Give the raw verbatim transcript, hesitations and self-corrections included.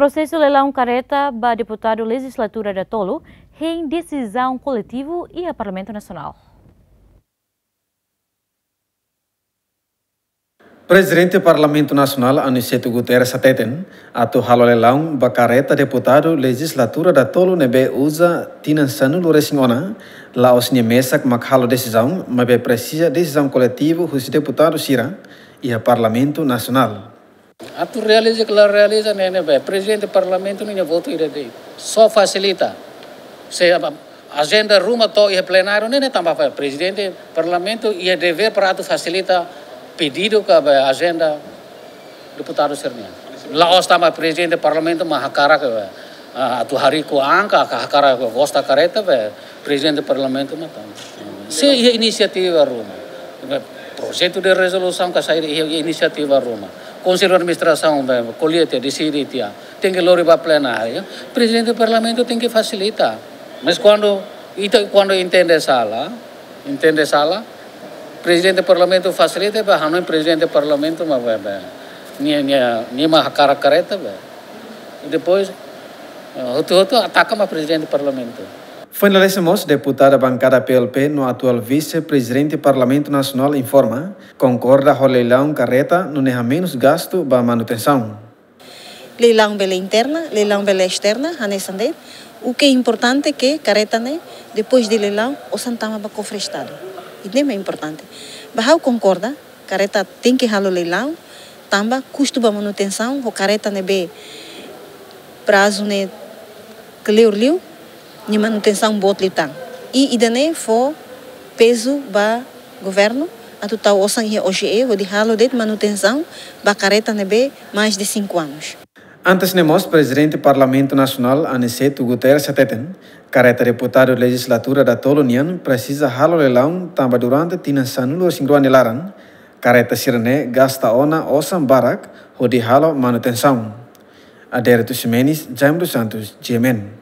Prosesu leilaun kareta ba deputadu lejizlatura datolu hein desizaun koletivu iha Parlamentu Nasionál. Prezidente Parlamentu Nasionál Aniceto Guterres hateten, atu halo leilaun ba kareta deputadu lejizlatura datolu ne'ebé uza tinan sanulu-resin-ona, la'ós nia mesak mak halo desizaun, maibé presiza desizaun koletivu husi deputadu sira iha Parlamentu Nasionál. Atu realiza ka la realiza ne'e, ne'ebé Prezidente Parlamentu nia votu ida de'it. Só fasilita. Se ajenda ruma to'o iha plenáriu ne'e, ne'e tanba fali Prezidente Parlamentu iha devér para atu fasilita pedidu ka ba ajenda deputadu sira-nian. La'ós tanba Prezidente Parlamentu mak hakarak, ah, atu hariku angka, ka hakarak gosta kareta, be Prezidente Parlamentu mak tan. Se iha inisiativa ruma, be projetu de rezolusaun ka saida iha inisiativa ruma, Konsellu Administrasaun be ko'alia tiha, deside tiha, tenke lori ba plenáriu, Prezidente Parlamentu tenke fasilita. Mas kuandu ita, kuandu entende sala, entende sala, Prezidente Parlamentu fasilita, be hanoin Prezidente Parlamentu mak be, be nia, nia, nia mak hakarak kareta be. Depois, eh, hotu-hotu ataka mak Prezidente Parlamentu. Foin lalais mós, deputada bankada P L P no atuál Vise-Prezidente Parlamentu Nasionál informa, konkorda ho leilaun kareta nune'e hamenus gastu ba manutensaun. Leilaun bele interna, leilaun bele esterna, hanesan de'it. O que é importante que kareta ne'e, depois de leilaun, osan tama ba kofre Estadu. Ida-ne'e mak importante. Ba ha'u konkorda, kareta tenke halo leilaun, tanba kustu ba manutensaun, ho kareta ne'ebé prazu ne'e kleur liu, nia manutensaun boot liután. I ida-ne'e fó pezu ba governu, atu tau osan iha O G E, hodi halo de'it manutensaun ba kareta ne'ebé mais de cinco anos. Antes ne'e mós, Prezidente Parlamentu Nasionál Aniceto Guterres hateten, kareta deputadu lejizlatura datolu nian presiza halo leilaun tanba durante tinan sanulu-resin-rua nia laran, kareta sira-ne'e gasta ona osan barak hodi halo manutensaun. Adérito Ximenes, Jaime dos Santos, G M N.